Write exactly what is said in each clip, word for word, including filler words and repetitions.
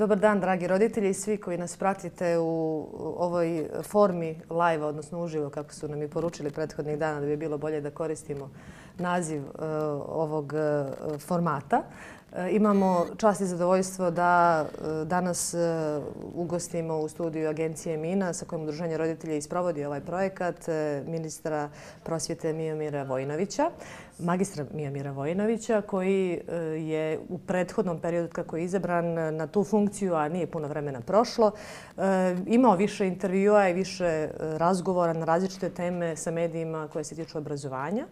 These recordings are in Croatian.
Dobar dan, dragi roditelji i svi koji nas pratite u ovoj formi live, odnosno uživo, kako su nam i poručili prethodnih dana da bi bilo bolje da koristimo naziv ovog formata. Imamo čast i zadovoljstvo da danas ugostimo u studiju Agencije Mina sa kojom Udruženje roditelja i sprovodi ovaj projekat ministra prosvjete Miomira Vojinovića, magistra Miomira Vojinovića, koji je u prethodnom periodu kako je izabran na tu funkciju, a nije puno vremena prošlo, imao više intervjua i više razgovora na različite teme sa medijima koje se tiču obrazovanja.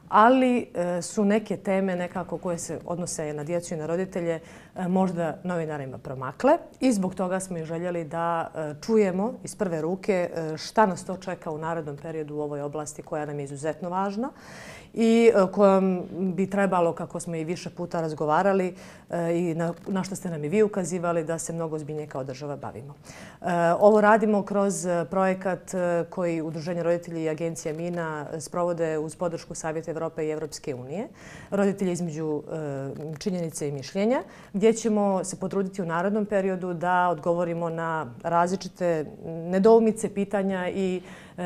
Ali su neke teme nekako koje se odnose na djecu i na roditelje možda novinarima promakle i zbog toga smo i željeli da čujemo iz prve ruke šta nas to čeka u narednom periodu u ovoj oblasti koja nam je izuzetno važna i kojom bi trebalo, kako smo i više puta razgovarali i na, na što ste nam i vi ukazivali, da se mnogo ozbiljnije kao država bavimo. Ovo radimo kroz projekat koji Udruženje roditelja i Agencija Mina sprovode uz podršku Savjeta Evrope i Evropske unije. Roditelji između činjenice i mišljenja, gdje ćemo se potruditi u narednom periodu da odgovorimo na različite nedoumice, pitanja i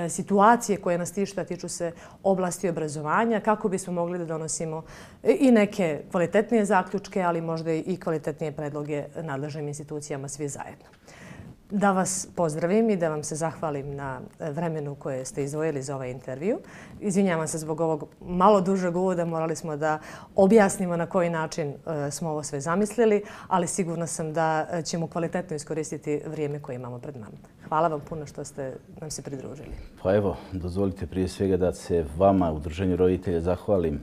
situacije koje nas tište, a tiču se oblasti obrazovanja, kako bismo mogli da donosimo i neke kvalitetnije zaključke, ali možda i kvalitetnije predloge nadležnim institucijama svi zajedno. Da vas pozdravim i da vam se zahvalim na vremenu koje ste izdvojili za ovaj intervju. Izvinjavam se zbog ovog malo dužeg uvoda, morali smo da objasnimo na koji način smo ovo sve zamislili, ali sigurna sam da ćemo kvalitetno iskoristiti vrijeme koje imamo pred nama. Hvala vam puno što ste nam se pridružili. Pa evo, dozvolite prije svega da se vama, Udruženju roditelja, zahvalim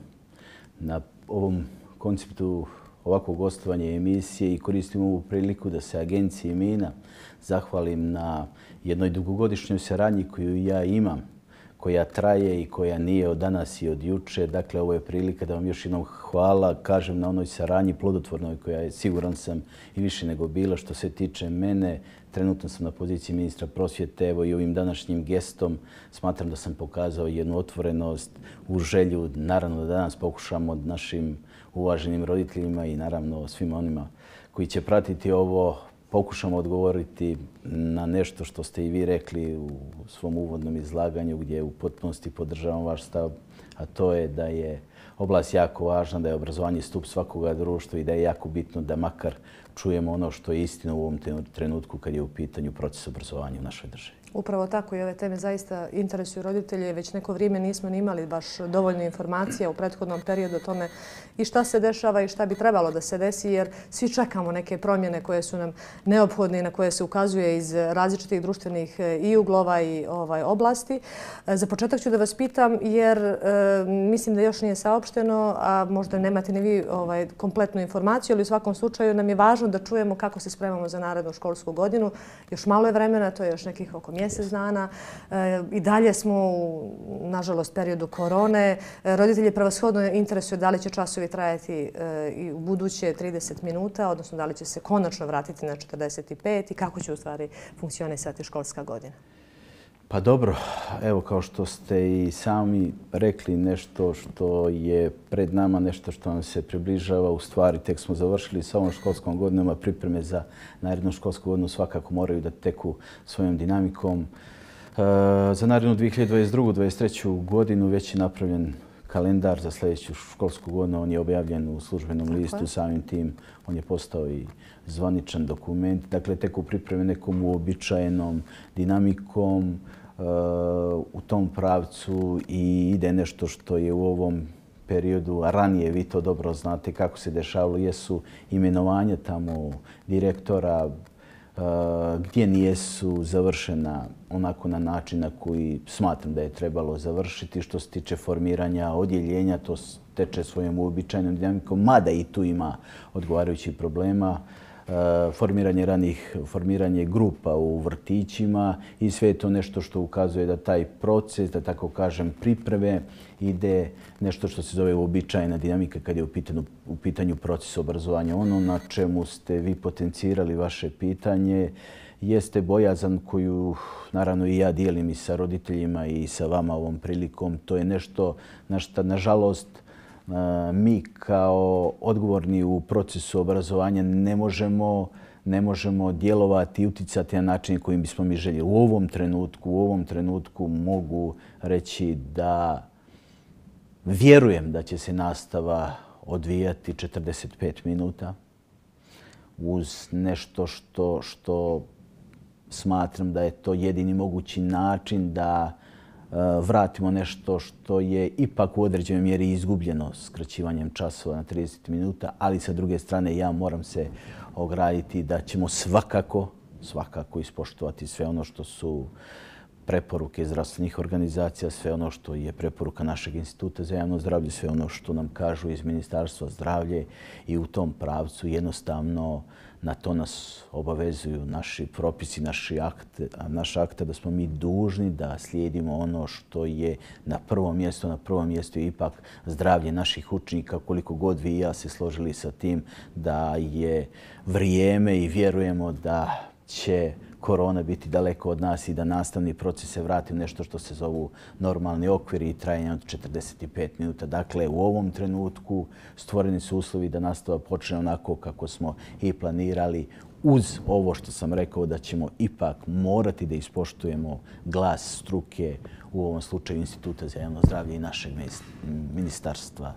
na ovom konceptu ovakvog gostovanja emisije i koristim ovu priliku da se Agenciji Mina zahvalim na jednoj dugogodišnjoj saradnji koju ja imam, koja traje i koja nije od danas i od juče. Dakle, ovo je prilika da vam još jednom hvala kažem na onoj saradnji plodotvornoj koja je, siguran sam, i više nego bila. Što se tiče mene, trenutno sam na poziciji ministra prosvjete. Evo i ovim današnjim gestom smatram da sam pokazao jednu otvorenost u želju, naravno da danas pokušamo našim uvaženim roditeljima i naravno svima onima koji će pratiti ovo, pokušamo odgovoriti na nešto što ste i vi rekli u svom uvodnom izlaganju, gdje u potpunosti podržavam vaš stav, a to je da je oblast jako važna, da je obrazovanje stup svakoga društva i da je jako bitno da makar čujemo ono što je istina u ovom trenutku kad je u pitanju proces obrazovanja u našoj državi. Upravo tako i ove teme zaista interesuju roditelje. Već neko vrijeme nismo ni imali baš dovoljno informacija u prethodnom periodu o tome i šta se dešava i šta bi trebalo da se desi, jer svi čekamo neke promjene koje su nam neophodne i na koje se ukazuje iz različitih društvenih i uglova i ovaj, oblasti. Za početak ću da vas pitam, jer e, mislim da još nije saopšteno, a možda nemate ni vi ovaj, kompletnu informaciju, ali u svakom slučaju nam je važno da čujemo kako se spremamo za narednu školsku godinu. Još malo je vremena, to je još nekih oko mjesec dana. E, I dalje smo u, nažalost, periodu korone. E, roditelji prevashodno interesuju da li će časovi trajati e, i u buduće trideset minuta, odnosno da li će se konačno vratiti na četrdeset pet i kako će u stvari funkcionisati školska godina. Pa dobro, evo kao što ste i sami rekli, nešto što je pred nama, nešto što nam se približava, u stvari tek smo završili sa ovom školskom godinom, a pripreme za narednu školsku godinu svakako moraju da teku svojom dinamikom. E, za narednu dvije hiljade dvadeset drugu dvadeset treću godinu već je napravljen kalendar za sljedeću školsku godinu. On je objavljen u službenom listu, samim tim on je postao i zvaničan dokument. Dakle, tek u pripreme nekom uobičajenom dinamikom uh, u tom pravcu i ide nešto što je u ovom periodu, a ranije vi to dobro znate kako se dešavalo, jesu imenovanja tamo direktora, Uh, gdje nijesu završena onako na način na koji smatram da je trebalo završiti. Što se tiče formiranja odjeljenja, to teče svojom uobičajenom dinamikom, mada i tu ima odgovarajućih problema. Uh, formiranje ranih, formiranje grupa u vrtićima i sve je to nešto što ukazuje da taj proces, da tako kažem, pripreme ide nešto što se zove uobičajena dinamika kad je u pitanju, u pitanju proces obrazovanja. Ono na čemu ste vi potencirali vaše pitanje jeste bojazan koju naravno i ja dijelim i sa roditeljima i sa vama ovom prilikom. To je nešto na što, nažalost, mi kao odgovorni u procesu obrazovanja ne možemo ne možemo djelovati i uticati na način kojim bismo mi željeli. U ovom trenutku, u ovom trenutku mogu reći da vjerujem da će se nastava odvijati četrdeset pet minuta uz nešto što, što smatram da je to jedini mogući način da vratimo nešto što je ipak u određenoj mjeri izgubljeno skraćivanjem časova na trideset minuta, ali sa druge strane ja moram se ograditi da ćemo svakako, svakako ispoštovati sve ono što su preporuke zdravstvenih organizacija, sve ono što je preporuka našeg Instituta za javno zdravlje, sve ono što nam kažu iz Ministarstva zdravlja i u tom pravcu jednostavno na to nas obavezuju naši propisi, naši akte, naš akte da smo mi dužni da slijedimo ono što je na prvom mjestu. Na prvom mjestu je ipak zdravlje naših učenika, koliko god vi i ja se složili sa tim da je vrijeme i vjerujemo da će korona biti daleko od nas i da nastavni proces se vrati u nešto što se zovu normalni okviri i trajanje od četrdeset pet minuta. Dakle, u ovom trenutku stvoreni su uslovi da nastava počne onako kako smo i planirali, uz ovo što sam rekao da ćemo ipak morati da ispoštujemo glas struke, u ovom slučaju Instituta za javno zdravlje i našeg Ministarstva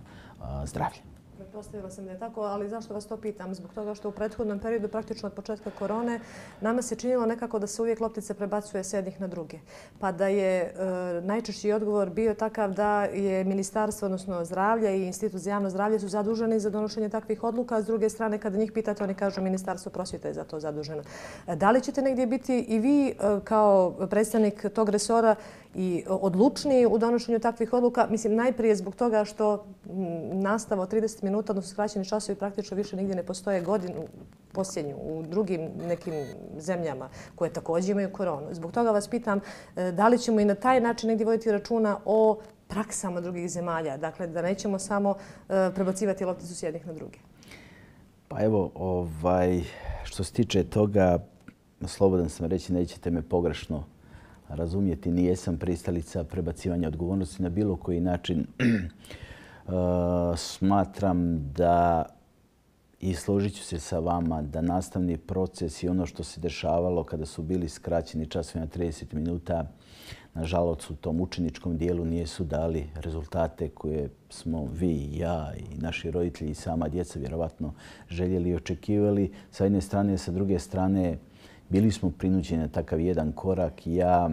zdravlja. Pretpostavila sam da je tako, ali zašto vas to pitam? Zbog toga što u prethodnom periodu, praktično od početka korone, nama se činilo nekako da se uvijek loptica prebacuje s jednih na druge. Pa da je e, najčešći odgovor bio takav da je Ministarstvo, odnosno zdravlja i Institut za javno zdravlje su zaduženi za donošenje takvih odluka, a s druge strane kada njih pitate oni kažu Ministarstvo prosvjete je za to zaduženo. Da li ćete negdje biti i vi kao predstavnik tog resora i odlučniji u donošenju takvih odluka? Mislim, najprije zbog toga što nastava od trideset minuta, odnosno skraćeni časovi, praktično više nigdje ne postoje godinu posljednju u drugim nekim zemljama koje također imaju koronu. Zbog toga vas pitam da li ćemo i na taj način negdje voditi računa o praksama drugih zemalja. Dakle, da nećemo samo prebacivati lopticu s jednih na druge. Pa evo, ovaj, što se tiče toga, slobodan sam reći, nećete me pogrešno razumjeti, nijesam pristalica prebacivanja odgovornosti na bilo koji način. Smatram da, i složit ću se sa vama, da nastavni proces i ono što se dešavalo kada su bili skraćeni časovi na trideset minuta, nažalost u tom učeničkom dijelu nisu dali rezultate koje smo vi i ja i naši roditelji i sama djeca vjerovatno željeli i očekivali. Sa jedne strane, sa druge strane, bili smo prinuđeni na takav jedan korak. Ja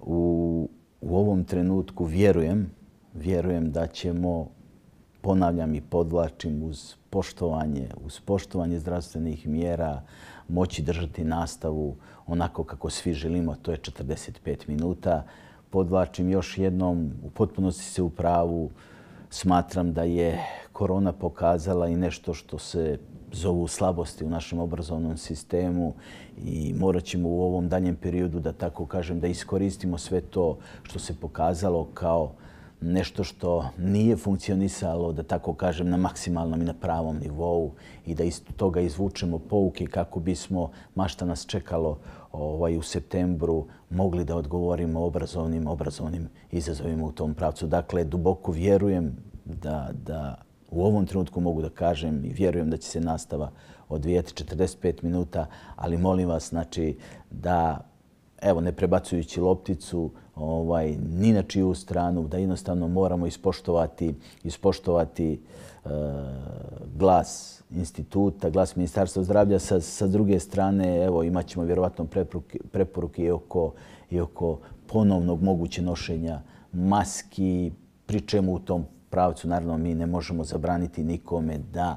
u, u ovom trenutku vjerujem, vjerujem da ćemo, ponavljam i podvlačim, uz poštovanje, uz poštovanje zdravstvenih mjera moći držati nastavu onako kako svi želimo, to je četrdeset pet minuta. Podvlačim još jednom, u potpunosti se u pravu, smatram da je korona pokazala i nešto što se zovu slabosti u našem obrazovnom sistemu i morat ćemo u ovom daljem periodu, da tako kažem, da iskoristimo sve to što se pokazalo kao nešto što nije funkcionisalo, da tako kažem, na maksimalnom i na pravom nivou i da iz toga izvučemo pouke kako bismo, ma šta nas čekalo ovaj, u septembru, mogli da odgovorimo obrazovnim, obrazovnim izazovima u tom pravcu. Dakle, duboko vjerujem da, da u ovom trenutku mogu da kažem i vjerujem da će se nastava odvijati četrdeset pet minuta, ali molim vas, znači, da, evo, ne prebacujući lopticu ovaj, ni na čiju stranu, da jednostavno moramo ispoštovati, ispoštovati e, glas instituta, glas Ministarstva zdravlja. Sa, sa druge strane, evo, imat ćemo vjerovatno preporuke, preporuke i oko, i oko ponovnog moguće nošenja maski, pri čemu u tom pravcu, naravno, mi ne možemo zabraniti nikome da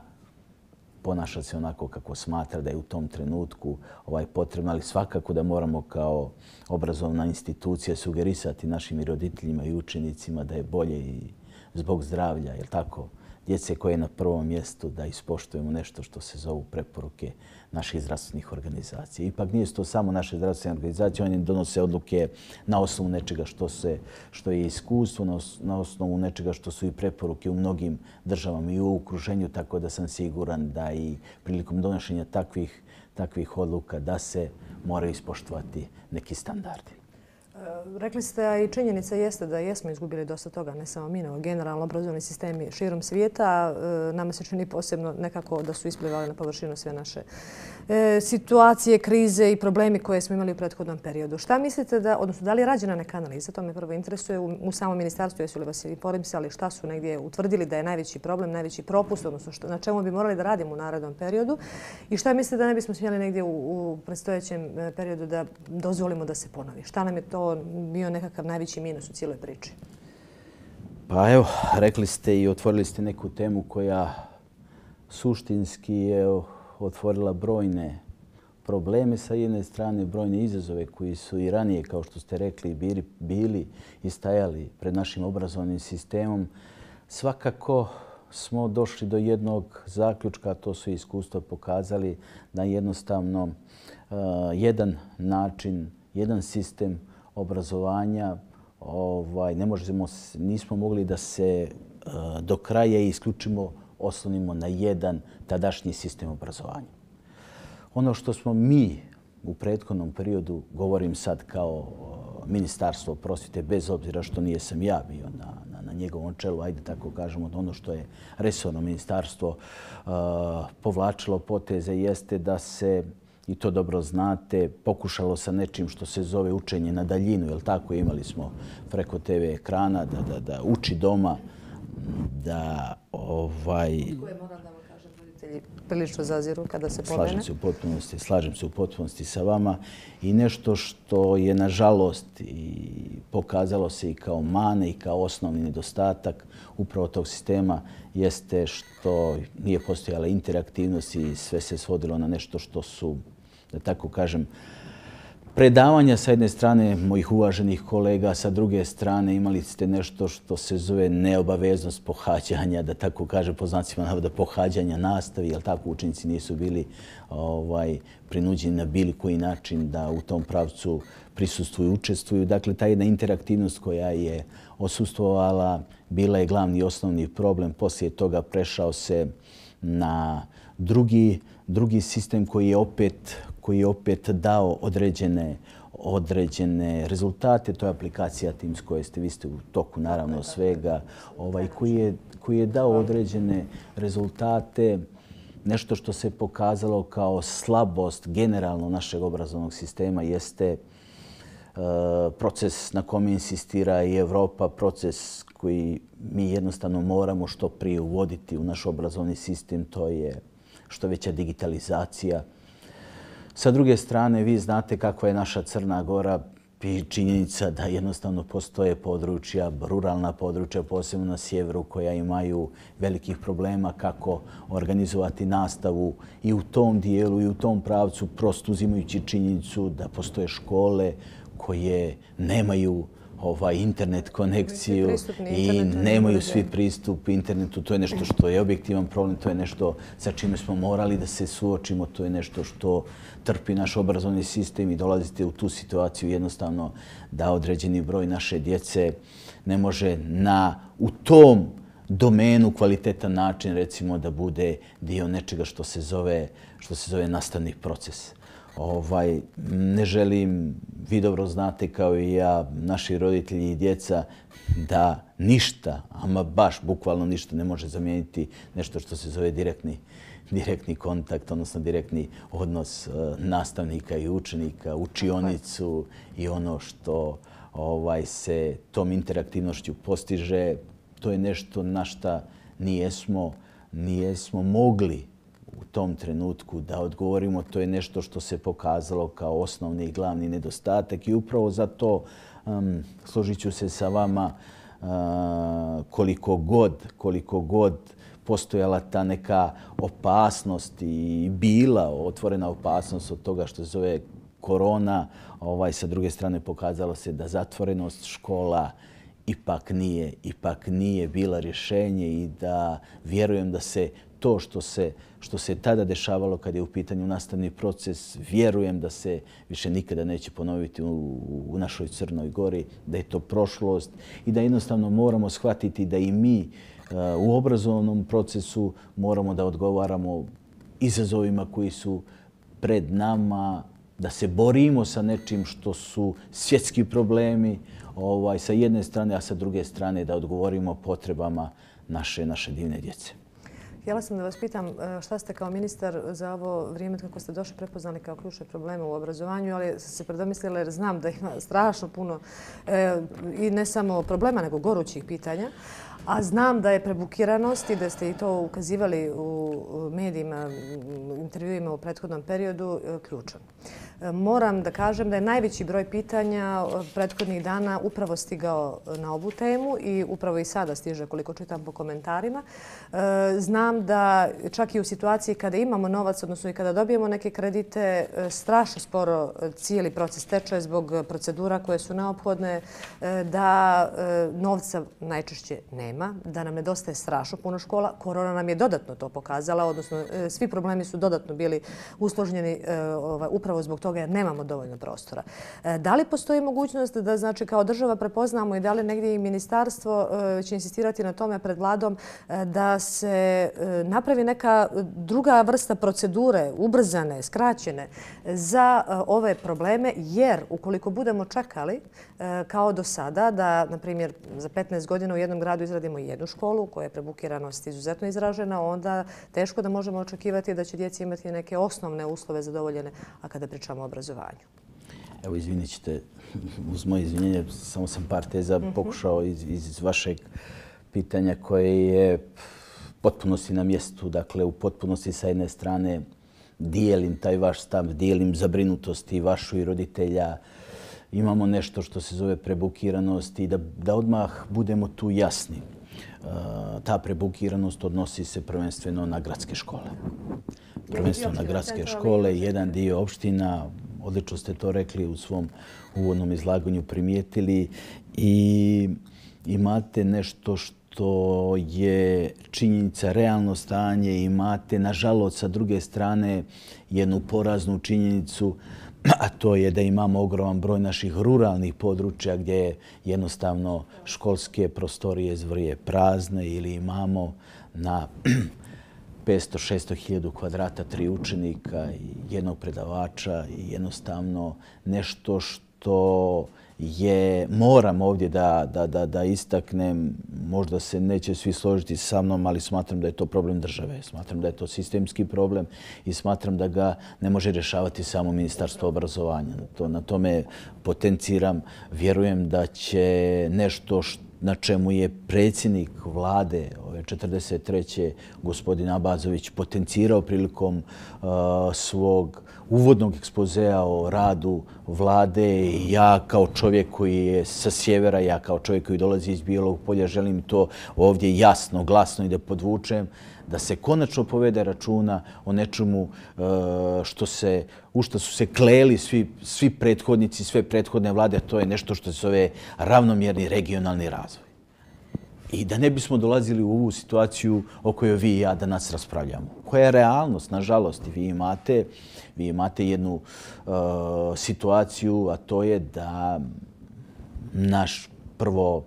ponaša se onako kako smatra da je u tom trenutku ovaj potrebno, ali svakako da moramo kao obrazovna institucija sugerisati našim roditeljima i učenicima da je bolje i zbog zdravlja, jel tako, djece koje je na prvom mjestu, da ispoštujemo nešto što se zovu preporuke naših zdravstvenih organizacija. Ipak nije to samo naše zdravstvene organizacije, oni donose odluke na osnovu nečega što, se, što je iskustvo, na osnovu nečega što su i preporuke u mnogim državama i u okruženju, tako da sam siguran da i prilikom donošenja takvih, takvih odluka da se moraju ispoštovati neki standardi. Rekli ste, a i činjenica jeste da jesmo izgubili dosta toga, ne samo mi, nego generalno obrazovni sistemi širom svijeta. Nama se čini posebno nekako da su isplivali na površinu sve naše situacije, krize i problemi koje smo imali u prethodnom periodu. Šta mislite da, odnosno da li je rađena neka analiza, to me prvo interesuje, u samom ministarstvu jesu li vas informisali šta su negdje utvrdili da je najveći problem, najveći propust, odnosno na čemu bi morali da radimo u narednom periodu i šta mislite da ne bismo smjeli negdje u predstojećem periodu da dozvolimo da se ponovi? Šta nam je to bio nekakav najveći minus u cijeloj priči? Pa evo, rekli ste i otvorili ste neku temu koja suštinski je otvorila brojne probleme sa jedne strane, brojne izazove koji su i ranije, kao što ste rekli, bili, bili i stajali pred našim obrazovnim sistemom. Svakako smo došli do jednog zaključka, to su iskustva pokazali, da jednostavno uh, jedan način, jedan sistem obrazovanja ovaj, ne možemo, nismo mogli da se uh, do kraja isključimo oslonimo na jedan tadašnji sistem obrazovanja. Ono što smo mi u prethodnom periodu, govorim sad kao ministarstvo prosvjete, bez obzira što nije sam ja bio na, na, na njegovom čelu, ajde tako kažemo, ono što je resorno ministarstvo uh, povlačilo poteze jeste da se, i to dobro znate, pokušalo sa nečim što se zove učenje na daljinu, jel tako, imali smo preko te ve ekrana da, da, da uči doma, da ovaj... Koje moram da vam kažem, roditelji prilično zaziru kada se pomene. Slažem se u potpunosti, slažem se u potpunosti sa vama i nešto što je nažalost i pokazalo se i kao mane i kao osnovni nedostatak upravo tog sistema jeste što nije postojala interaktivnost i sve se svodilo na nešto što su, da tako kažem, predavanja sa jedne strane mojih uvaženih kolega, sa druge strane imali ste nešto što se zove neobaveznost pohađanja, da tako kažem, po znacima navoda pohađanja nastavi, jer tako učenici nisu bili ovaj, prinuđeni na bilo koji način da u tom pravcu prisustvuju i učestvuju. Dakle, ta jedna interaktivnost koja je osustvovala bila je glavni i osnovni problem. Poslije toga prešao se na drugi, drugi sistem koji je opet koji je opet dao određene, određene rezultate. To je aplikacija Teams koje ste, vi ste u toku naravno svega, ovaj, koji, je, koji je dao određene rezultate. Nešto što se pokazalo kao slabost generalno našeg obrazovnog sistema jeste uh, proces na kome insistira i Evropa, proces koji mi jednostavno moramo što prije uvoditi u naš obrazovni sistem, to je što veća digitalizacija. Sa druge strane, vi znate kakva je naša Crna Gora i činjenica da jednostavno postoje područja, ruralna područja, posebno na sjeveru, koja imaju velikih problema kako organizovati nastavu i u tom dijelu i u tom pravcu, prosto uzimajući činjenicu da postoje škole koje nemaju ovaj internet konekciju i nemaju svi pristup internetu. To je nešto što je objektivan problem, to je nešto sa čime smo morali da se suočimo, to je nešto što trpi naš obrazovni sistem i dolazite u tu situaciju jednostavno da određeni broj naše djece ne može na, u tom domenu kvalitetan način recimo da bude dio nečega što se zove, što se zove nastavni proces. Ovaj, ne želim, vi dobro znate kao i ja, naši roditelji i djeca, da ništa, ama baš bukvalno ništa ne može zamijeniti nešto što se zove direktni, direktni kontakt, odnosno direktni odnos uh, nastavnika i učenika, učionicu i ono što ovaj, se tom interaktivnošću postiže. To je nešto na šta nijesmo, nijesmo mogli u tom trenutku da odgovorimo. To je nešto što se pokazalo kao osnovni i glavni nedostatak i upravo zato um, složit ću se sa vama uh, koliko god, koliko god postojala ta neka opasnost i bila otvorena opasnost od toga što se zove korona, ovaj, sa druge strane pokazalo se da zatvorenost škola ipak nije, ipak nije bila rješenje i da vjerujem da se to što se, što se tada dešavalo kad je u pitanju nastavni proces, vjerujem da se više nikada neće ponoviti u, u našoj Crnoj Gori, da je to prošlost i da jednostavno moramo shvatiti da i mi uh, u obrazovnom procesu moramo da odgovaramo izazovima koji su pred nama da se borimo sa nečim što su svjetski problemi ovaj, sa jedne strane, a sa druge strane da odgovorimo potrebama naše, naše divne djece. Htjela sam da vas pitam šta ste kao ministar za ovo vrijeme kako ste došli prepoznali kao ključne probleme u obrazovanju, ali sam se predomislila jer znam da ima strašno puno e, i ne samo problema, nego gorućih pitanja. A znam da je prebukiranost i da ste i to ukazivali u medijima, intervjuima u prethodnom periodu, ključan. Moram da kažem da je najveći broj pitanja prethodnih dana upravo stigao na ovu temu i upravo i sada stiže koliko čitam po komentarima. Znam da čak i u situaciji kada imamo novac, odnosno i kada dobijemo neke kredite, strašno sporo cijeli proces teče zbog procedura koje su neophodne, da novca najčešće nema, da nam nedostaje strašno puno škola. Korona nam je dodatno to pokazala, odnosno svi problemi su dodatno bili usložnjeni upravo zbog toga jer nemamo dovoljno prostora. Da li postoji mogućnost da znači, kao država prepoznamo i da li negdje i ministarstvo će insistirati na tome pred vladom da se napravi neka druga vrsta procedure, ubrzane, skraćene za ove probleme, jer ukoliko budemo čekali kao do sada da, na primjer, za petnaest godina u jednom gradu izradimo jednu školu koja je prebukiranost izuzetno izražena, onda teško da možemo očekivati da će djeci imati neke osnovne uslove zadovoljene, a kada pričamo o obrazovanju. Evo, izvinit ćete, uz moje izvinjenje, samo sam par teza pokušao iz, iz vašeg pitanja koje je potpunosti na mjestu. Dakle, u potpunosti sa jedne strane dijelim taj vaš stav, dijelim zabrinutost i vašu i roditelja. Imamo nešto što se zove prebukiranost i da, da odmah budemo tu jasni. Ta prebukiranost odnosi se prvenstveno na gradske škole. Prvenstveno na gradske škole, jedan dio opština, odlično ste to rekli u svom uvodnom izlaganju, primijetili i imate nešto što je činjenica, realno stanje, imate nažalost sa druge strane jednu poraznu činjenicu, a to je da imamo ogroman broj naših ruralnih područja gdje jednostavno školske prostorije zvrje prazne ili imamo na petsto do šesto hiljada kvadrata tri učenika i jednog predavača i jednostavno nešto što je, moram ovdje da, da, da, da istaknem, možda se neće svi složiti sa mnom, ali smatram da je to problem države. Smatram da je to sistemski problem i smatram da ga ne može rješavati samo Ministarstvo obrazovanja. To, na tome potenciram. Vjerujem da će nešto što na čemu je predsjednik vlade ove četrdeset treće gospodin Abazović potencirao prilikom uh, svog uvodnog ekspozea o radu vlade. I ja kao čovjek koji je sa sjevera, ja kao čovjek koji dolazi iz Bijelog Polja, želim to ovdje jasno, glasno i da podvučem, da se konačno povede računa o nečemu što se, u što su se kleli svi, svi prethodnici, sve prethodne vlade, a to je nešto što se zove ravnomjerni regionalni razvoj. I da ne bismo dolazili u ovu situaciju o kojoj vi i ja danas raspravljamo. Koja je realnost, nažalost, vi imate, vi imate jednu uh, situaciju, a to je da naš prvo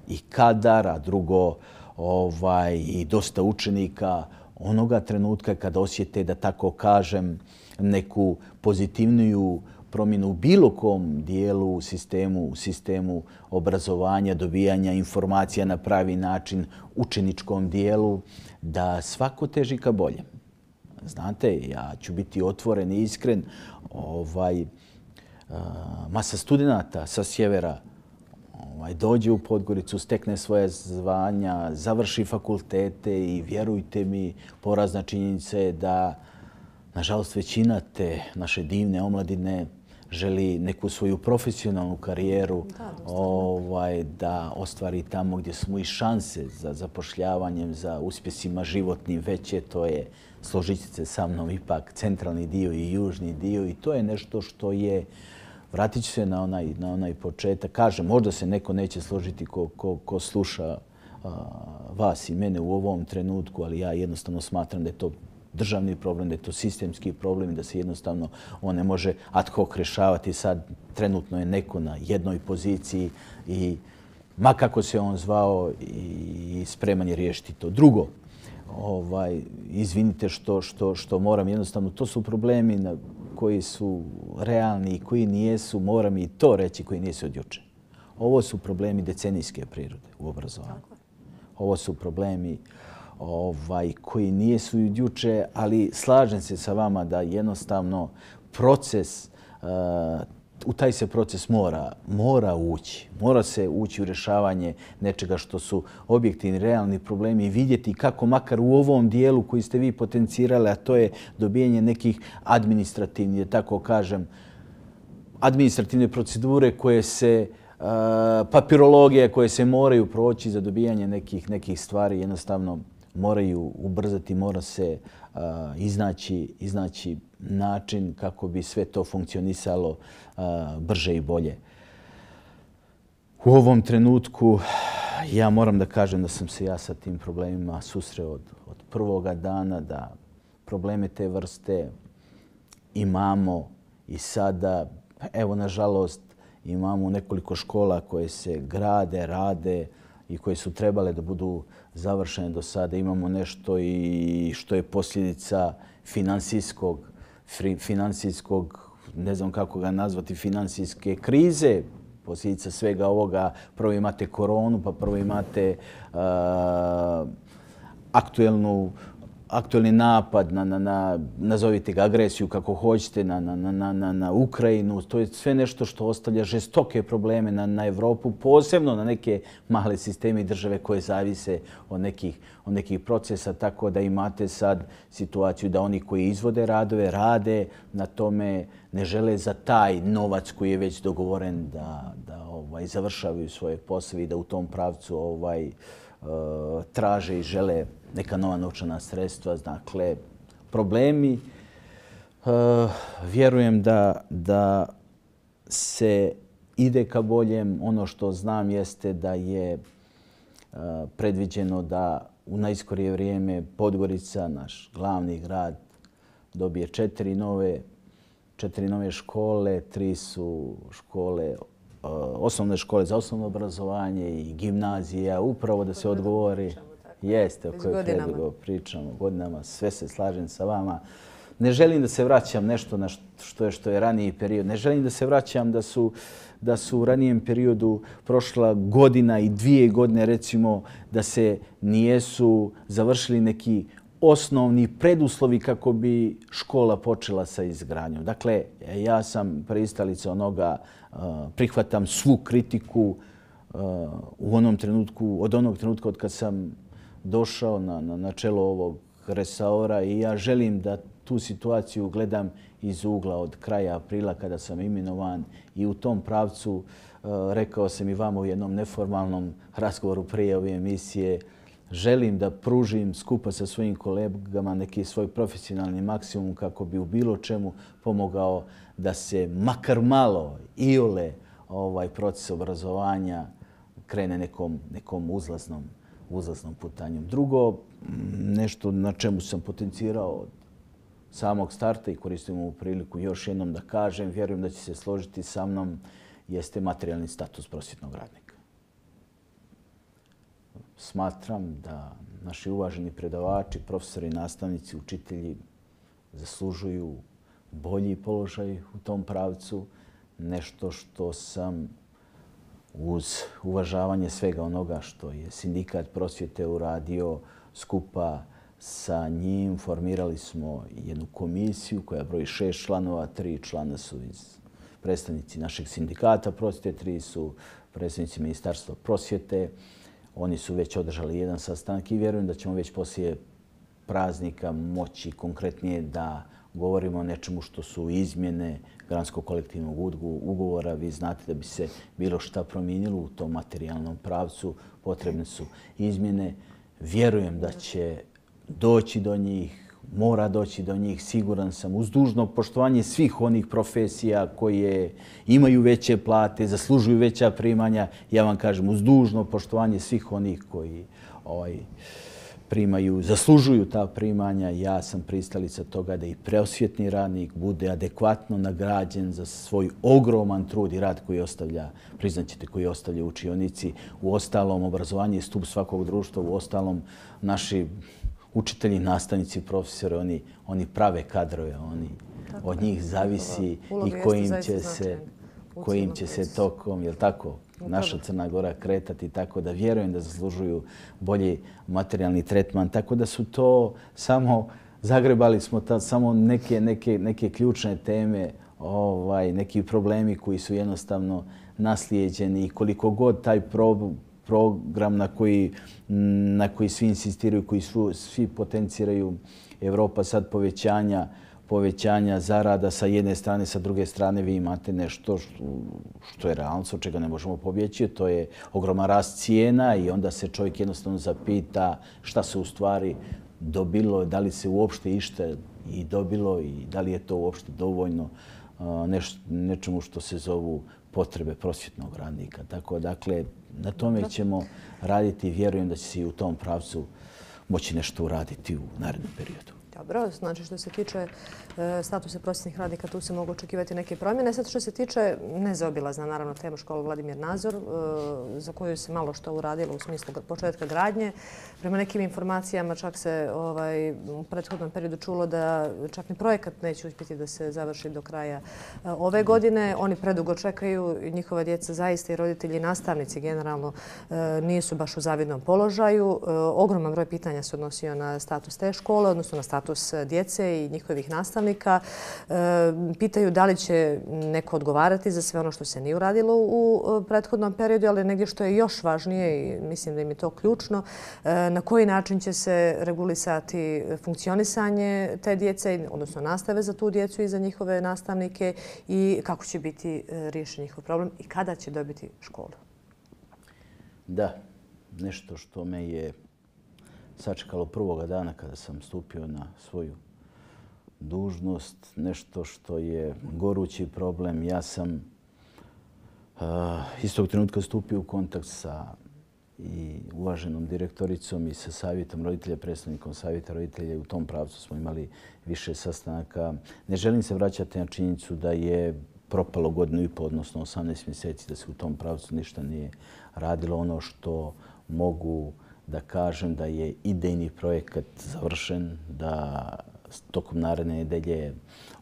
i kadar, a drugo ovaj, i dosta učenika onoga trenutka kada osjete, da tako kažem, neku pozitivniju promjenu u bilo kom dijelu u sistemu, u sistemu obrazovanja, dobijanja informacija na pravi način, učeničkom dijelu, da svako teži ka boljem. Znate, ja ću biti otvoren i iskren. Ovaj, masa studenata sa sjevera ovaj, dođe u Podgoricu, stekne svoje zvanja, završi fakultete i vjerujte mi, porazna činjenica je da, nažalost, većina te naše divne omladine želi neku svoju profesionalnu karijeru da, ovaj, da ostvari tamo gdje smo i šanse za zapošljavanjem, za uspjesima životnim veće. To je, složit ćete se sa mnom, ipak centralni dio i južni dio i to je nešto što je, vratit ću se na onaj, na onaj početak. Kažem, možda se neko neće složiti ko, ko, ko sluša a, vas i mene u ovom trenutku, ali ja jednostavno smatram da je to državni problem, da je to sistemski problem i da se jednostavno on ne može ad hoc rješavati. Sad trenutno je neko na jednoj poziciji i ma kako se on zvao i spreman je riješiti to. Drugo, ovaj, izvinite što, što, što moram jednostavno, to su problemi na, koji su realni i koji nijesu, moram i to reći, koji nisu od juče. Ovo su problemi decenijske prirode u obrazovanju. Ovo su problemi ovaj, koji nijesu od juče, ali slažem se sa vama da jednostavno proces, uh, u taj se proces mora, mora ući. Mora se ući u rješavanje nečega što su objektivni, realni problemi i vidjeti kako makar u ovom dijelu koji ste vi potencirali, a to je dobijanje nekih administrativnih, da tako kažem, administrativne procedure koje se, uh, papirologije koje se moraju proći za dobijanje nekih, nekih stvari, jednostavno moraju ubrzati, mora se uh, iznaći, iznaći način kako bi sve to funkcionisalo uh, brže i bolje. U ovom trenutku ja moram da kažem da sam se ja sa tim problemima susreo od, od prvoga dana, da probleme te vrste imamo i sada. Evo, nažalost, imamo nekoliko škola koje se grade, rade i koje su trebale da budu završene do sada. Imamo nešto i što je posljedica finansijskog, finansijskog, ne znam kako ga nazvati, finansijske krize. Posljedica svega ovoga, prvo imate koronu, pa prvo imate uh, aktuelnu aktualni napad na, na, na, nazovite ga agresiju kako hoćete, na, na, na, na, na Ukrajinu. To je sve nešto što ostavlja žestoke probleme na, na Evropu, posebno na neke male sisteme i države koje zavise od nekih, od nekih procesa. Tako da imate sad situaciju da oni koji izvode radove, rade na tome, ne žele za taj novac koji je već dogovoren da, da ovaj, završavaju svoje poslove i da u tom pravcu ovaj, uh, traže i žele neka nova novčana sredstva. Dakle, problemi. Uh, vjerujem da, da se ide ka boljem. Ono što znam jeste da je uh, predviđeno da u najskorije vrijeme Podgorica, naš glavni grad, dobije četiri nove, četiri nove škole. Tri su škole, uh, osnovne škole za osnovno obrazovanje i gimnazija, upravo da se odgovori. Jeste, o kojoj predugo pričamo godinama, sve se slažem sa vama. Ne želim da se vraćam nešto na što je, što je raniji period. Ne želim da se vraćam da su, da su u ranijem periodu prošla godina i dvije godine, recimo, da se nijesu završili neki osnovni preduslovi kako bi škola počela sa izgradnjom. Dakle, ja sam pristalica onoga, prihvatam svu kritiku u onom trenutku, od onog trenutka od kad sam došao na, na, na čelo ovog resora i ja želim da tu situaciju gledam iz ugla od kraja aprila kada sam imenovan i u tom pravcu uh, rekao sam i vama u jednom neformalnom razgovoru prije ove emisije, želim da pružim skupa sa svojim kolegama neki svoj profesionalni maksimum kako bi u bilo čemu pomogao da se makar malo iole ovaj proces obrazovanja krene nekom, nekom uzlaznom uzlaznom putanjem. Drugo, nešto na čemu sam potencirao od samog starta i koristim ovu priliku još jednom da kažem, vjerujem da će se složiti sa mnom, jeste materijalni status prosvjetnog radnika. Smatram da naši uvaženi predavači, profesori, nastavnici, učitelji zaslužuju bolji položaj u tom pravcu, nešto što sam uz uvažavanje svega onoga što je Sindikat prosvjete uradio skupa sa njim, formirali smo jednu komisiju koja broji šest članova. Tri člana su iz predstavnici našeg sindikata prosvjete, tri su predstavnici Ministarstva prosvjete. Oni su već održali jedan sastanak i vjerujem da ćemo već poslije praznika moći konkretnije da govorimo o nečemu što su izmjene granskog kolektivnog ugovora. Vi znate da bi se bilo šta promijenilo u tom materijalnom pravcu, potrebne su izmjene. Vjerujem da će doći do njih, mora doći do njih, siguran sam, uz dužno poštovanje svih onih profesija koje imaju veće plate, zaslužuju veća primanja. Ja vam kažem, uz dužno poštovanje svih onih koji ovaj, primaju, zaslužuju ta primanja. Ja sam pristalica toga da i prosvjetni radnik bude adekvatno nagrađen za svoj ogroman trud i rad koji ostavlja, priznaćete, koji ostavlja u učionici. U ostalom, obrazovanje je stup svakog društva. U ostalom, naši učitelji, nastavnici, profesori, oni, oni prave kadrove, oni od njih zavisi i kojim će se, kojim će se tokom, jel tako, naša Crna Gora kretati, tako da vjerujem da zaslužuju bolji materijalni tretman. Tako da su to samo, zagrebali smo ta, samo neke, neke, neke ključne teme, ovaj, neki problemi koji su jednostavno naslijeđeni i koliko god taj pro, program na koji, na koji svi insistiraju, koji su, svi potenciraju, Evropa sad povećanja, povećanja zarada sa jedne strane, sa druge strane vi imate nešto što, što je realnost, od čega ne možemo pobjeći. To je ogroman rast cijena i onda se čovjek jednostavno zapita šta se u stvari dobilo, da li se uopšte išta i dobilo i da li je to uopšte dovoljno neš, nečemu što se zovu potrebe prosvjetnog radnika. Tako dakle, na tome ćemo raditi i vjerujem da će se i u tom pravcu moći nešto uraditi u narednom periodu. Dobro, znači što se tiče e, statusa prosvjetnih radnika, tu se mogu očekivati neke promjene. Sad što se tiče nezaobilazna, naravno, tema škola Vladimir Nazor, e, za koju se malo što uradilo u smislu početka gradnje. Prema nekim informacijama čak se ovaj, u prethodnom periodu čulo da čak ni projekat neće uspjeti da se završi do kraja e, ove godine. Oni predugo čekaju i njihova djeca zaista i roditelji i nastavnici generalno e, nisu baš u zavidnom položaju. E, ogroman broj pitanja se odnosio na status te škole, odnosno na status djece i njihovih nastavnika. Pitaju da li će neko odgovarati za sve ono što se nije uradilo u prethodnom periodu, ali negdje što je još važnije i mislim da im je to ključno, na koji način će se regulisati funkcionisanje te djece, odnosno nastave za tu djecu i za njihove nastavnike i kako će biti riješen njihov problem i kada će dobiti školu. Da, nešto što me je sačekalo prvoga dana kada sam stupio na svoju dužnost, nešto što je gorući problem. Ja sam uh, istog trenutka stupio u kontakt sa i uvaženom direktoricom i sa savjetom roditelja, predstavnikom savjeta roditelja. U tom pravcu smo imali više sastanaka. Ne želim se vraćati na činjenicu da je propalo godinu i pol, odnosno osamnaest mjeseci, da se u tom pravcu ništa nije radilo. Ono što mogu da kažem da je idejni projekat završen, da tokom naredne nedelje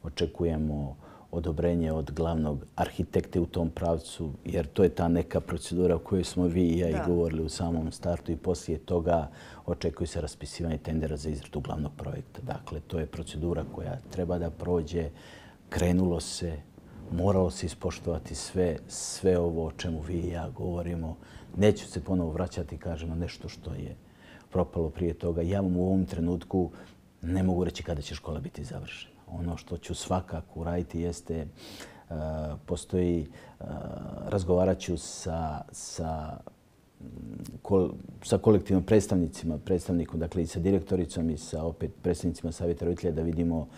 očekujemo odobrenje od glavnog arhitekte u tom pravcu, jer to je ta neka procedura o kojoj smo vi i ja i govorili u samom startu i poslije toga očekuje se raspisivanje tendera za izradu glavnog projekta. Dakle, to je procedura koja treba da prođe. Krenulo se, moralo se ispoštovati sve, sve ovo o čemu vi i ja govorimo. Neću se ponovo vraćati, kažem, na nešto što je propalo prije toga. Ja vam u ovom trenutku ne mogu reći kada će škola biti završena. Ono što ću svakako uraditi jeste, uh, postoji, uh, razgovarat ću sa, sa, kol, sa kolektivnim predstavnicima, predstavnikom, dakle i sa direktoricom i sa opet predstavnicima savjeta roditelja da vidimo uh,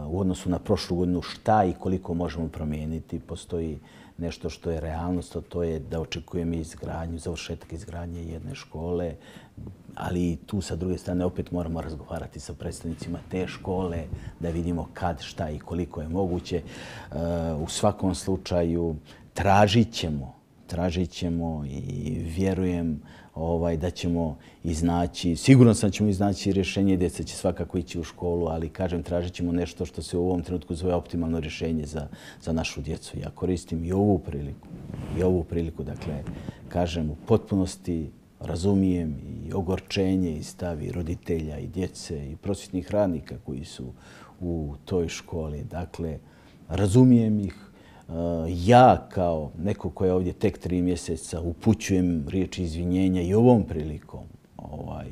u odnosu na prošlu godinu šta i koliko možemo promijeniti. Postoji nešto što je realnost, a to je da očekujem izgradnju, završetak izgradnje jedne škole, ali i tu sa druge strane opet moramo razgovarati sa predstavnicima te škole da vidimo kad, šta i koliko je moguće. U svakom slučaju tražit ćemo, tražit ćemo i vjerujem ovaj, da ćemo iznaći, sigurno sam da ćemo iznaći rješenje, djeca će svakako ići u školu, ali kažem, tražit ćemo nešto što se u ovom trenutku zove optimalno rješenje za, za našu djecu. Ja koristim i ovu priliku, i ovu priliku, dakle, kažem, u potpunosti razumijem i ogorčenje i stav i roditelja i djece i prosvjetnih radnika koji su u toj školi. Dakle, razumijem ih. Ja kao neko ko je ovdje tek tri mjeseca upućujem riječi izvinjenja i ovom prilikom ovaj,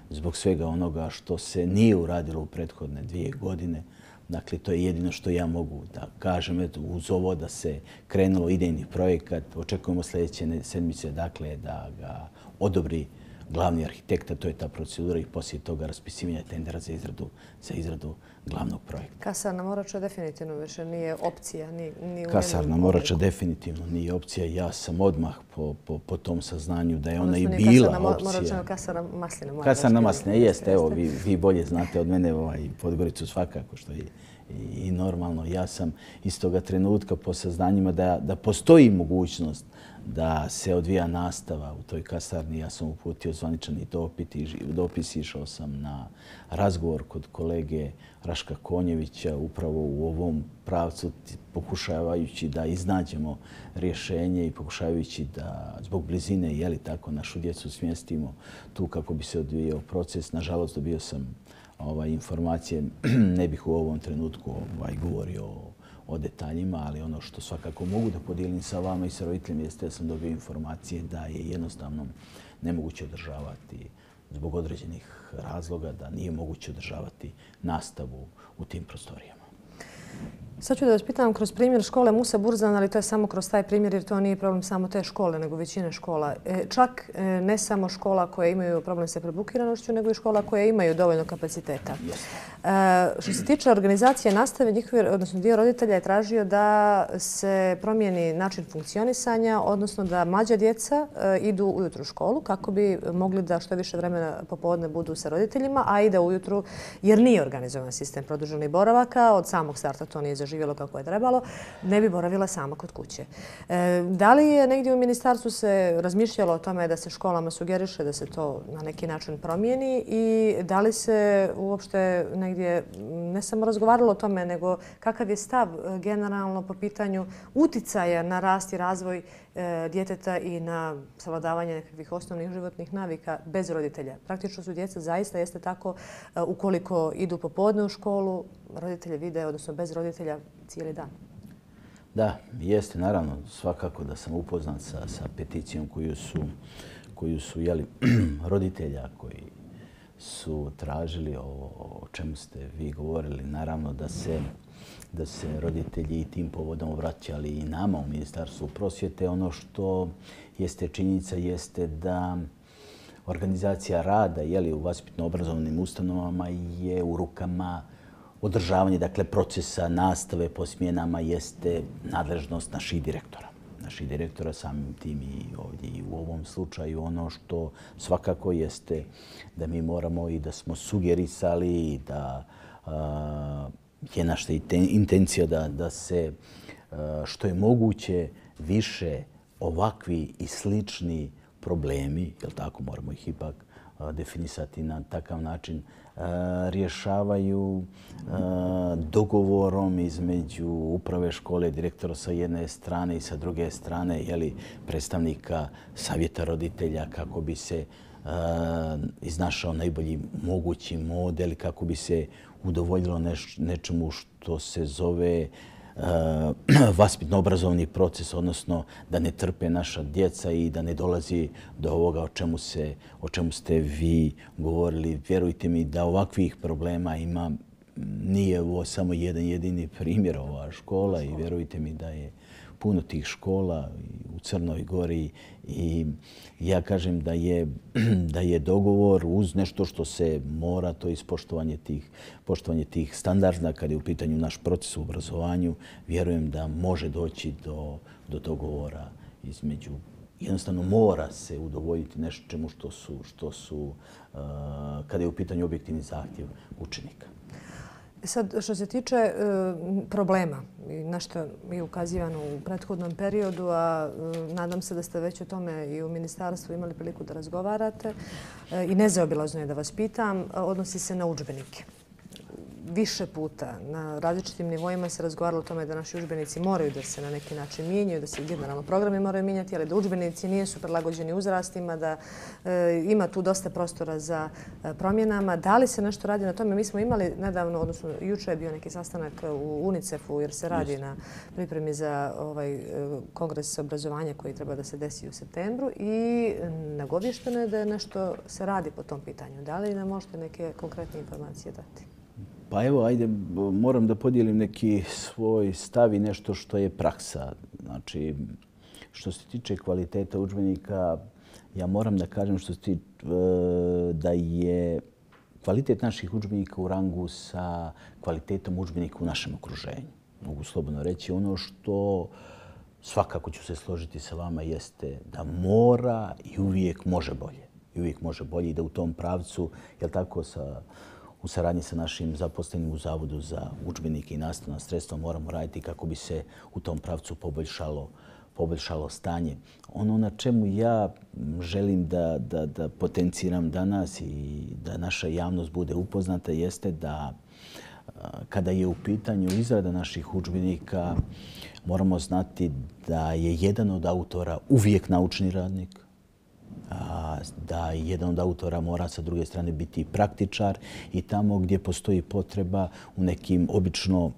zbog svega onoga što se nije uradilo u prethodne dvije godine. Dakle, to je jedino što ja mogu da kažem. Eto, uz ovo da se krenulo idejni projekat, očekujemo sljedeće sedmice dakle, da ga odobri glavni arhitekta, to je ta procedura i poslije toga raspisivanja tendera za izradu, za izradu glavnog projekta. Kasarna Morača definitivno više nije opcija. Ni, ni u Kasarna Morača definitivno nije opcija. Ja sam odmah po, po, po tom saznanju da je ona i bila kasarna opcija. Morača, kasarna Masline. Kasarna Masline, jeste. Evo, vi, vi bolje znate od mene ovaj, Podgoricu svakako, što je i, i normalno. Ja sam iz toga trenutka po saznanjima da, da postoji mogućnost da se odvija nastava u toj kasarni. Ja sam uputio zvaničani dopis, išao sam na razgovor kod kolege Raška Konjevića upravo u ovom pravcu, pokušavajući da iznađemo rješenje i pokušavajući da zbog blizine, jeli tako, našu djecu smjestimo tu kako bi se odvijao proces. Nažalost, dobio sam ovaj, informacije, ne bih u ovom trenutku ovaj, govorio o, o detaljima, ali ono što svakako mogu da podijelim sa vama i sa roditeljima jeste da sam dobio informacije da je jednostavno nemoguće održavati zbog određenih razloga, da nije moguće održavati nastavu u tim prostorijama. Sad ću da vas pitam kroz primjer škole Musa Burzan, ali to je samo kroz taj primjer jer to nije problem samo te škole, nego većine škola. Čak ne samo škola koje imaju problem sa prebukiranošću, nego i škola koje imaju dovoljno kapaciteta. Što se tiče organizacije nastave, njihovi, odnosno dio roditelja je tražio da se promijeni način funkcionisanja, odnosno da mlađa djeca idu ujutru u školu kako bi mogli da što više vremena popodne budu sa roditeljima, a i da ujutru, jer nije organizovan sistem produženih boravaka, od samog starta to nije zaživjelo kako je trebalo, ne bi boravila sama kod kuće. Da li je negdje u ministarstvu se razmišljalo o tome da se školama sugeriše da se to na neki način promijeni i da li se uopšte negdje ne samo razgovaralo o tome, nego kakav je stav generalno po pitanju uticaja na rast i razvoj djeteta i na savladavanje nekakvih osnovnih životnih navika bez roditelja. Praktično su djeca zaista jeste tako ukoliko idu popodne u školu, roditelje vide, odnosno bez roditelja cijeli dan. Da, jeste, naravno, svakako da sam upoznat sa, sa peticijom koju su, koju su jeli, roditelja koji su tražili ovo o čemu ste vi govorili. Naravno da se, da se roditelji i tim povodom obraćali i nama u Ministarstvu prosvjete. Ono što jeste činjenica jeste da organizacija rada jeli, u vaspitno-obrazovnim ustanovama je u rukama održavanje, dakle, procesa nastave po smjenama jeste nadležnost naših direktora. Naših direktora samim tim i ovdje i u ovom slučaju. Ono što svakako jeste da mi moramo i da smo sugerisali i da a, je naša intencija da, da se a, što je moguće više ovakvi i slični problemi, jel tako, moramo ih ipak a, definisati na takav način, rješavaju dogovorom između uprave škole, direktora sa jedne strane i sa druge strane jeli, predstavnika savjeta roditelja kako bi se iznašao najbolji mogući model i kako bi se udovoljilo neš, nečemu što se zove vaspitno-obrazovni proces, odnosno da ne trpe naša djeca i da ne dolazi do ovoga o čemu, se, o čemu ste vi govorili. Vjerujte mi da ovakvih problema ima, nije ovo samo jedan jedini primjer ova škola i vjerujte mi da je puno tih škola u Crnoj Gori i ja kažem da je, da je dogovor uz nešto što se mora, to je ispoštovanje tih, poštovanje tih standarda kad je u pitanju naš proces u obrazovanju. Vjerujem da može doći do, do dogovora između, jednostavno mora se udovoljiti nečemu što su, što su uh, kada je u pitanju objektivni zahtjev učenika. Sad, što se tiče e, problema, na što je ukazivano u prethodnom periodu, a e, nadam se da ste već o tome i u ministarstvu imali priliku da razgovarate e, i nezaobilazno je da vas pitam, odnosi se na udžbenike. Više puta na različitim nivoima se razgovaralo o tome da naši udžbenici moraju da se na neki način mijenjaju, da se generalno programi moraju mijenjati, ali da udžbenici nisu prilagođeni uzrastima, da e, ima tu dosta prostora za e, promjenama. Da li se nešto radi na tome? Mi smo imali nedavno, odnosno juče je bio neki sastanak u UNICEF-u jer se radi na pripremi za ovaj kongres obrazovanja koji treba da se desi u septembru i nagovješteno je da je nešto se radi po tom pitanju. Da li nam možete neke konkretne informacije dati? Pa evo, ajde, moram da podijelim neki svoj stav i nešto što je praksa. Znači, što se tiče kvaliteta udžbenika, ja moram da kažem što se tiče, da je kvalitet naših udžbenika u rangu sa kvalitetom udžbenika u našem okruženju. Mogu slobodno reći ono što svakako ću se složiti sa vama jeste da mora i uvijek može bolje. I uvijek može bolje i da u tom pravcu, jel tako, sa u saradnji sa našim zaposlenim u Zavodu za udžbenike i nastavna sredstva moramo raditi kako bi se u tom pravcu poboljšalo, poboljšalo stanje. Ono na čemu ja želim da, da, da potenciram danas i da naša javnost bude upoznata jeste da kada je u pitanju izrada naših udžbenika moramo znati da je jedan od autora uvijek naučni radnik, da jedan od autora mora sa druge strane biti praktičar i tamo gdje postoji potreba u nekim obično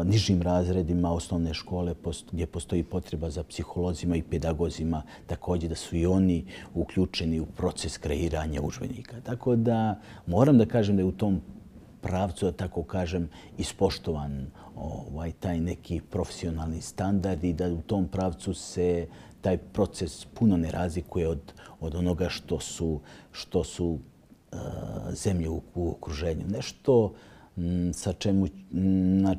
nižim razredima osnovne škole gdje postoji potreba za psiholozima i pedagozima, također da su i oni uključeni u proces kreiranja udžbenika. Tako da moram da kažem da je u tom pravcu, da tako kažem, ispoštovan ovaj, taj neki profesionalni standard i da u tom pravcu se taj proces puno ne razlikuje od, od onoga što su, što su uh, zemlje u, u okruženju. Nešto m, sa čemu na,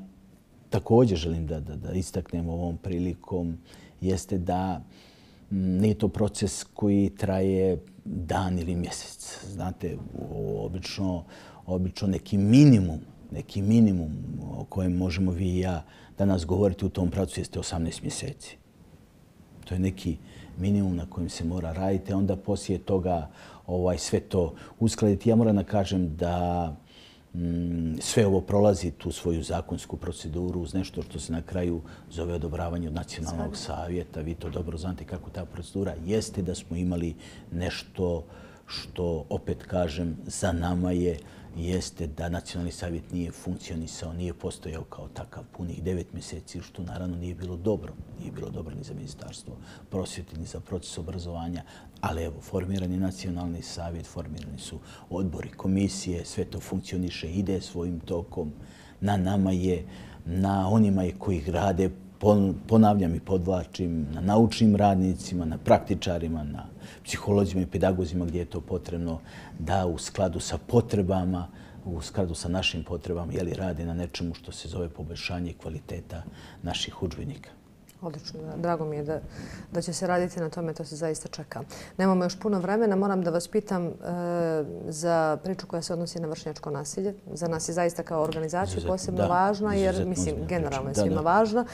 također želim da, da, da istaknem ovom prilikom jeste da m, nije to proces koji traje dan ili mjesec. Znate, obično, obično neki minimum, neki minimum o kojem možemo vi i ja danas govoriti u tom pravcu jeste osamnaest mjeseci. To je neki minimum na kojem se mora raditi, a onda poslije toga ovaj, sve to uskladiti. Ja moram da kažem da mm, sve ovo prolazi tu svoju zakonsku proceduru uz nešto što se na kraju zove odobravanje od Nacionalnog savjeta. Vi to dobro znate kako ta procedura jeste, da smo imali nešto što, opet kažem, za nama je jeste da Nacionalni savjet nije funkcionisao, nije postojao kao takav punih devet mjeseci, što naravno nije bilo dobro. Nije bilo dobro ni za Ministarstvo prosvjete, ni za proces obrazovanja. Ali evo, formiran je Nacionalni savjet, formirani su odbori, komisije, sve to funkcioniše, ide svojim tokom. Na nama je, na onima je koji rade, ponavljam i podvlačim, na naučnim radnicima, na praktičarima, na psiholozima i pedagozima gdje je to potrebno, da u skladu sa potrebama, u skladu sa našim potrebama, jeli, rade na nečemu što se zove poboljšanje kvaliteta naših udžbenika. Odlično, drago mi je da, da će se raditi na tome, to se zaista čeka. Nemamo još puno vremena, moram da vas pitam e, za priču koja se odnosi na vršnjačko nasilje. Za nas je zaista kao organizaciju Izuzetno, posebno da, važna, jer izuzetno mislim, ozbiljna generalno je priča. svima Da, da. važna.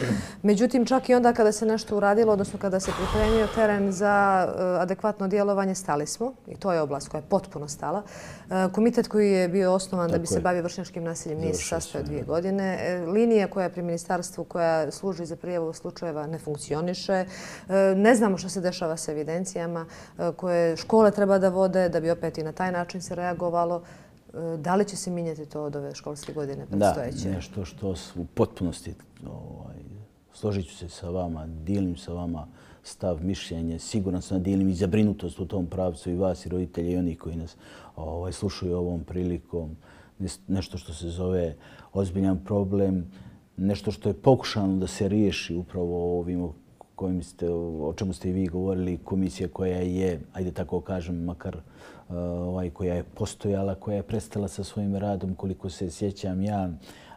Međutim, čak i onda kada se nešto uradilo, odnosno kada se pripremio teren za e, adekvatno djelovanje, stali smo. I to je oblast koja je potpuno stala. E, komitet koji je bio osnovan Tako da bi se je. bavio vršnjačkim nasiljem nije se Završio sastojao se, dvije da. godine. E, linija koja je pri ministarstvu, koja služi za prijavu slučajeva, ne funkcioniše. Ne znamo što se dešava s evidencijama koje škole treba da vode, da bi opet i na taj način se reagovalo. Da li će se mijenjati to od ove školske godine predstojeće? Da, nešto što u potpunosti, ovaj, složit ću se sa vama, dijelim sa vama stav, mišljenje, siguran sam da dijelim i zabrinutost u tom pravcu i vas i roditelji i oni koji nas ovaj, slušaju ovom prilikom. Nešto što se zove ozbiljan problem, nešto što je pokušano da se riješi upravo ovim kojim ste, o čemu ste i vi govorili, komisija koja je, ajde tako kažem, makar ovaj, koja je postojala, koja je prestala sa svojim radom, koliko se sjećam ja,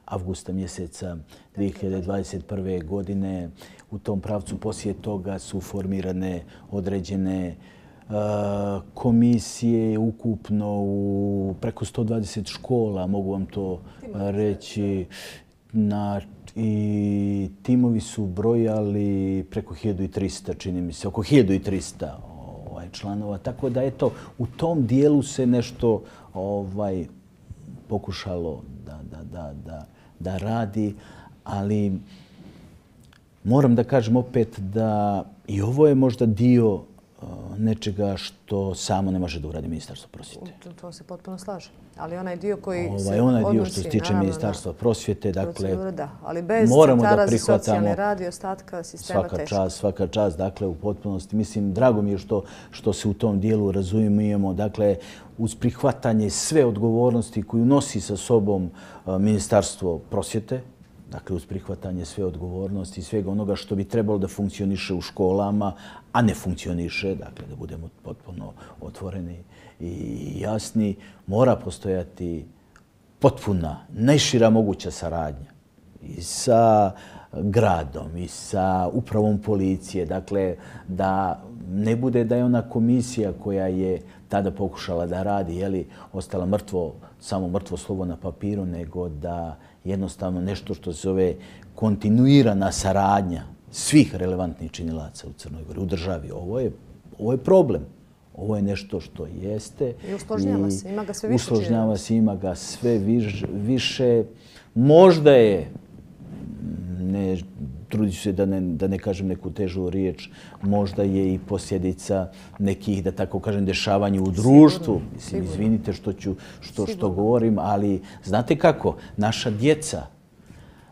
avgusta mjeseca dvije hiljade dvadeset prve. godine. U tom pravcu poslije toga su formirane određene uh, komisije ukupno u preko sto dvadeset škola, mogu vam to reći. Na, i timovi su brojali preko hiljadu trista, čini mi se, oko hiljadu trista ovaj, članova. Tako da, eto, u tom dijelu se nešto ovaj, pokušalo da, da, da, da, da radi, ali moram da kažem opet da i ovo je možda dio nečega što samo ne može da uradi Ministarstvo prosvjete. To se potpuno slaže. Ali onaj dio koji ovaj, se onaj odnosi, dio što se tiče Ministarstva prosvjete, dakle, da, ali bez moramo da centara za prihvatamo socijalni rad i ostatka sistema svaka teško. čast, svaka čast, dakle, u potpunosti. Mislim, drago mi je što, što se u tom dijelu razumijemo, dakle, uz prihvatanje sve odgovornosti koju nosi sa sobom uh, Ministarstvo prosvjete, dakle, uz prihvatanje sve odgovornosti i svega onoga što bi trebalo da funkcioniše u školama, a ne funkcioniše, dakle, da budemo potpuno otvoreni i jasni, mora postojati potpuna, najšira moguća saradnja i sa gradom i sa upravom policije. Dakle, da ne bude da je ona komisija koja je tada pokušala da radi, jeli, ostala mrtvo, samo mrtvo slovo na papiru, nego da jednostavno nešto što se zove kontinuirana saradnja svih relevantnih činilaca u Crnoj Gori, u državi. Ovo je, ovo je problem. Ovo je nešto što jeste. I usložnjava se, ima ga sve više. Usložnjava se, ima ga sve viš, više. Možda je, ne trudit ću se da ne, da ne kažem neku težu riječ, možda je i posljedica nekih, da tako kažem, dešavanja u društvu. Mislim, izvinite što, ću, što, što govorim, ali znate kako? Naša djeca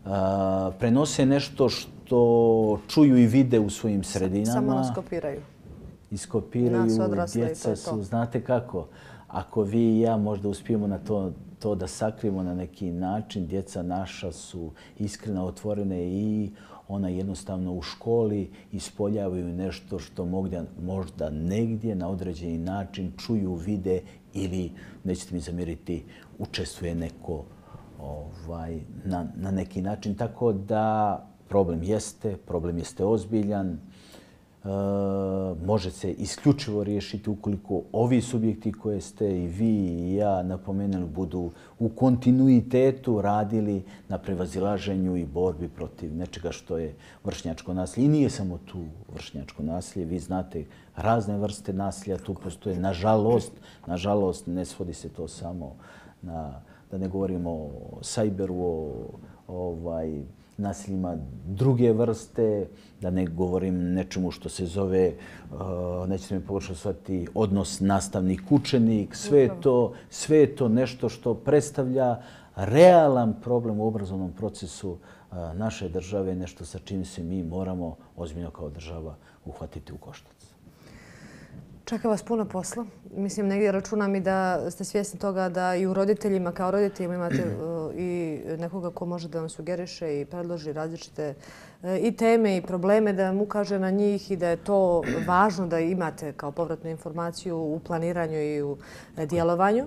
a, prenose nešto što čuju i vide u svojim sredinama. Samo nas kopiraju. Iskopiraju, djeca su, znate kako, ako vi i ja možda uspijemo na to, to da sakrijemo na neki način, djeca naša su iskreno otvorene i ona jednostavno u školi ispoljavaju nešto što možda, možda negdje na određeni način čuju, vide ili, nećete mi zamjeriti, učestvuje neko ovaj, na, na neki način. Tako da problem jeste, problem jeste ozbiljan. E, može se isključivo riješiti ukoliko ovi subjekti koje ste i vi i ja napomenuli budu u kontinuitetu radili na prevazilaženju i borbi protiv nečega što je vršnjačko nasilje. I nije samo tu vršnjačko nasilje. Vi znate razne vrste nasilja tu postoje. Nažalost, nažalost ne svodi se to samo na, da ne govorimo o sajberu, o ovaj, nasiljima druge vrste, da ne govorim nečemu što se zove, uh, nećete me pogrešno shvatiti, odnos nastavnik-učenik. Sve je to, sve je to nešto što predstavlja realan problem u obrazovnom procesu uh, naše države, nešto sa čim se mi moramo ozbiljno kao država uhvatiti u koštac. Čeka vas puno posla. Mislim, negdje računam i da ste svjesni toga da i u roditeljima, kao roditeljima imate i nekoga ko može da vam sugeriše i predloži različite i teme i probleme, da vam ukaže na njih i da je to važno da imate kao povratnu informaciju u planiranju i u djelovanju.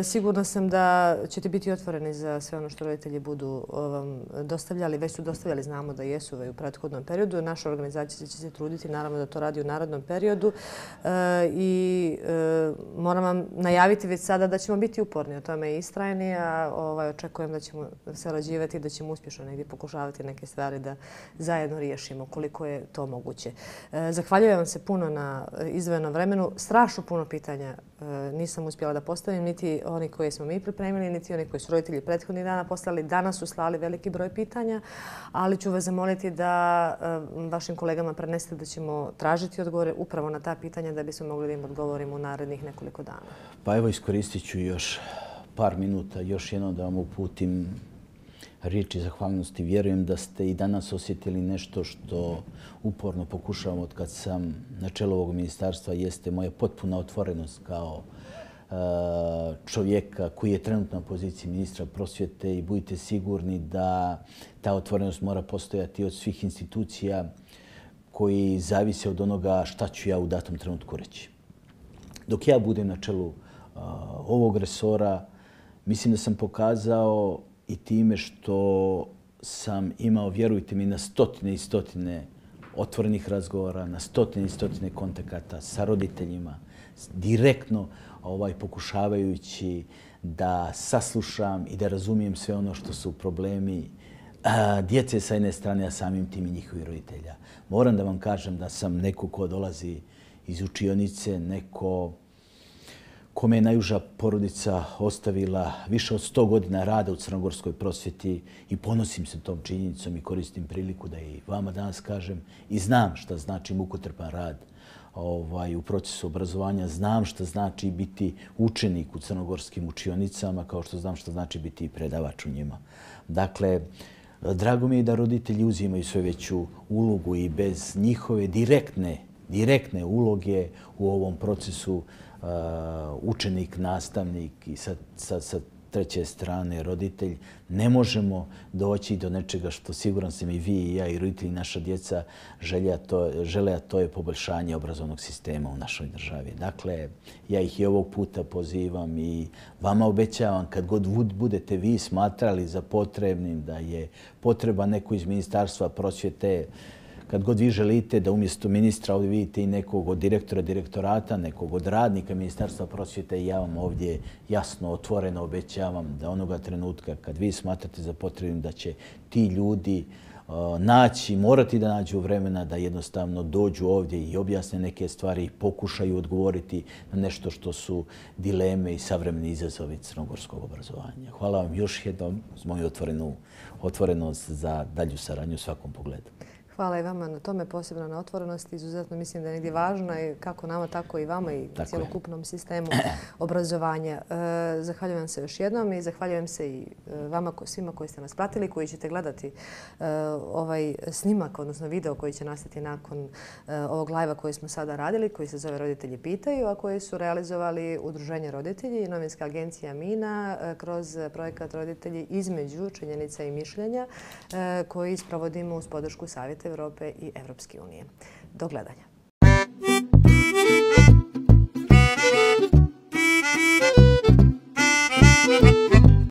Sigurna sam da ćete biti otvoreni za sve ono što roditelji budu vam dostavljali. Već su dostavljali, znamo da jesu u prethodnom periodu. Naša organizacija će se truditi, naravno, da to radi u narednom periodu. I moram vam najaviti već sada da ćemo biti uporni, o tome i istrajni, a ovaj, očekujem da ćemo sarađivati i da ćemo uspješno negdje pokušavati neke stvari da zajedno riješimo koliko je to moguće. Zahvaljujem vam se puno na izdvojenom vremenu. Strašno puno pitanja nisam uspjela da postavim, niti oni koje smo mi pripremili, niti oni koji su roditelji prethodnih dana poslali. Danas su slali veliki broj pitanja, ali ću vas zamoliti da vašim kolegama prenesete da ćemo tražiti odgovore upravo na ta pitanja da bismo mogli da im odgovorimo u narednih nekoliko dana. Pa evo, iskoristit ću još par minuta, još jedno da vam uputim riječi zahvalnosti. Vjerujem da ste i danas osjetili nešto što uporno pokušavam od kad sam na čelu ovog ministarstva, jeste moja potpuna otvorenost kao čovjeka koji je trenutno na poziciji ministra prosvjete i budite sigurni da ta otvorenost mora postojati od svih institucija koji zavise od onoga šta ću ja u datom trenutku reći. Dok ja budem na čelu uh, ovog resora, mislim da sam pokazao i time što sam imao, vjerujte mi, na stotine i stotine otvorenih razgovora, na stotine i stotine kontakata sa roditeljima, direktno ovaj, pokušavajući da saslušam i da razumijem sve ono što su problemi a, djece sa jedne strane, a samim tim i njihovih roditelja. Moram da vam kažem da sam neko ko dolazi iz učionice, neko kome je najuža porodica ostavila više od sto godina rada u crnogorskoj prosvjeti i ponosim se tom činjenicom i koristim priliku da i vama danas kažem i znam šta znači mukotrpan rad ovaj, u procesu obrazovanja. Znam šta znači biti učenik u crnogorskim učionicama, kao što znam šta znači biti predavač u njima. Dakle, drago mi je da roditelji uzimaju sve veću ulogu i bez njihove direktne, direktne uloge u ovom procesu uh, učenik, nastavnik i sa, sa, sa treće strane roditelj, ne možemo doći do nečega što siguran sam i vi i ja i roditelji, naša djeca žele, to, žele, a to je poboljšanje obrazovnog sistema u našoj državi. Dakle, ja ih i ovog puta pozivam i vama obećavam kad god budete vi smatrali za potrebnim da je potreba neko iz Ministarstva prosvjete, kad god vi želite da umjesto ministra ovdje vidite i nekog od direktora direktorata, nekog od radnika Ministarstva prosvjete, ja vam ovdje jasno, otvoreno obećavam da onoga trenutka kad vi smatrate za potrebnim da će ti ljudi naći, morati da nađu vremena da jednostavno dođu ovdje i objasne neke stvari i pokušaju odgovoriti na nešto što su dileme i savremeni izazovi crnogorskog obrazovanja. Hvala vam još jednom za moju otvorenu, otvorenost za dalju saradnju u svakom pogledu. Hvala i vama na tome, posebno na otvorenosti. Izuzetno mislim da je negdje važno i kako nama, tako i vama i cjelokupnom sistemu obrazovanja. Zahvaljujem se još jednom i zahvaljujem se i vama svima koji ste nas pratili, koji ćete gledati ovaj snimak, odnosno video koji će nastati nakon ovog live-a koji smo sada radili, koji se zove Roditelji pitaju, a koji su realizovali Udruženje roditelji i novinska agencija Mina kroz projekat Roditelji između činjenica i mišljenja koji sprovodimo uz podršku Savjeta Evrope i Evropske unije. Do gledanja.